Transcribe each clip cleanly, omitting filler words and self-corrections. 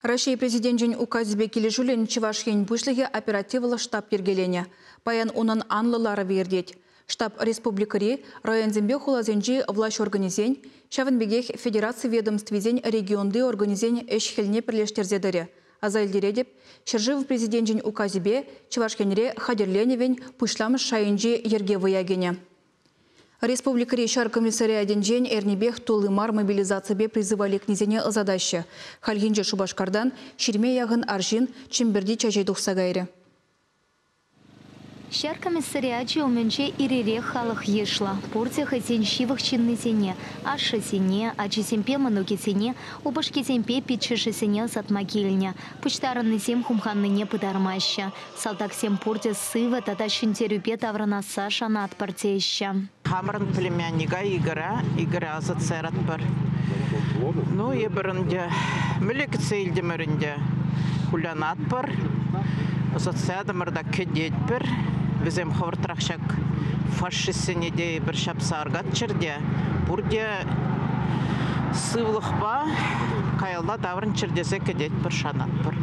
Раҫҫей Президенчӗн указӗпе килӗшӳллӗн Чӑваш Ен Пуҫлӑхӗ оперативлӑ штаб йӗркеленӗ. Паян унӑн анлӑ ларӑвӗ иртет. Штаб республикӑри, районсемпе хуласенчи влаҫ органӗсен, ҫавӑн пекех федераци ведомствисен регионти органӗсен ӗҫ-хӗлне пӗрлештерсе тӑрӗ. Аса илтеретӗп, ҫӗршыв Президенчӗн указӗпе Чӑваш Енре хатӗрленӗвӗн пуҫламӑш шайӗнчи йӗрке вӑя кӗнӗ. Республикӑри ҫар комиссариатӗнчен эрнипех тулли мар мобилизаципе призыва лекнисене ӑсатаҫҫӗ. Хальхинче Шупашкартан 20 яхӑн арҫын Чӗмпӗрти чаҫе тухса кайрӗ. Ҫар комиссариачӗ умӗнче ир-ирех халӑх йышлӑ. Пурте хӑйсен ҫывӑх ҫыннисене, ашшӗсене, ачисемпе мӑнукӗсене, упӑшкисемпе пиччӗшӗсене ӑсатма килнӗ. Пуҫтарӑннисем хумханнине пытармаҫҫӗ. Салтаксем пурте сывӑ тата ҫӗнтерӳпе таврӑнасса шанатпӑр теҫҫӗ. Хамӑрӑн племянника Игоря, Игоря ӑсатса яратпӑр. Ну, эпир ӗнтӗ мӗнле кӗтсе илтӗмӗр ӗнтӗ. Кулянатпӑр, ӑсатса ятӑмӑр та кӗтетпӗр. Вӗсем хӑвӑртрах ҫак фашистсене те эпир ҫапса аркатчӑр те пурте сывлӑхпа каялла таврӑнччӑр тесе кӗтетпӗр, шанатпӑр.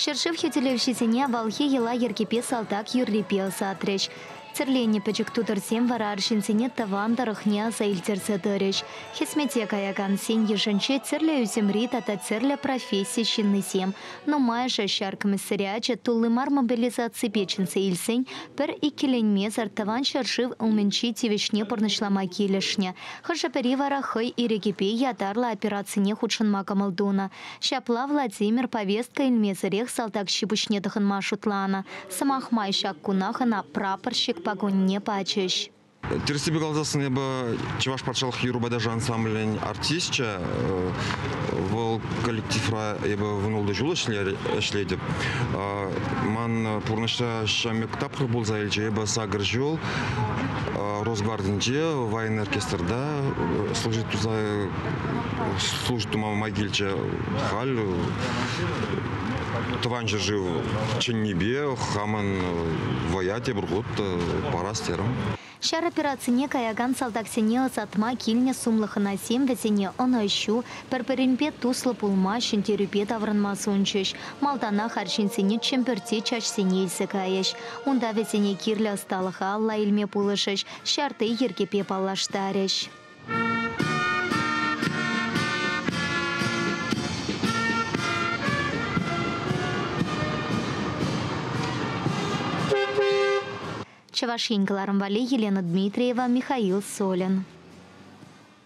Ҫӗршыв хӳтӗлевҫисене авалхи йӑла-йӗркепе салтак юррипе ӑсатрӗҫ. Тӗрленӗ пӗчӗк тутӑрсем вара арҫынсене тӑван тӑрӑхне аса илтерсе тӑрӗҫ. Хӗсмете каякансен йышӗнче тӗрлӗ ӳсӗмри тата тӗрлӗ професси ҫыннисем. Нумайӑшӗ ҫар комиссариачӗ тулли мар мобилизаципе чӗнсе илсен пӗр иккӗленмесӗр Тӑван ҫӗршыв умӗнчи тивӗҫне пурнӑҫлама килӗшнӗ. Хӑшӗ-пӗри вара хӑй ирӗкӗпе ятарлӑ операцине хутшӑнма кӑмӑл тунӑ. Ҫапла Владимир повестка илмесӗрех салтак ҫи-пуҫне тӑхӑнма шутланӑ. Сӑмах май ҫак кунах ӑна прапорщик пакунне пачӗҫ. Тӗрӗссипе каласассӑн эпӗ Чӑваш патшалӑх юрӑпа ташӑ ансамблӗн артисчӗ. Вӑл коллективра эпӗ 16 ҫул ӗҫлетӗп. Ман пурнӑҫра ҫамрӑк тапхӑр пулса илчӗ. Эпӗ 8 ҫул Росгвардинче военный оркестрта служить туса служить тума май килчӗ. Халь тӑван ҫӗршыв чӗннипе хамӑн вӑя тепӗр хут парас терӗм. Ҫар операцине каякан салтаксене ӑсатма килнӗ сумлӑ хӑнасем вӗсене ӑнӑҫу, пӗр-пӗринпе туслӑ пулма, ҫӗнтерӳпе таврӑнма сунчӗҫ. Малтанах арҫынсене Чӗмпӗрти чаҫсене илсе кайӗҫ. Унта вӗсене кирлӗ ӑсталӑха алла илме пулӑшӗҫ, ҫарти йӗркепе паллаштарӗҫ. Чӑваш Ен кӑларӑм валли Елена Дмитриева, Михаил Солин.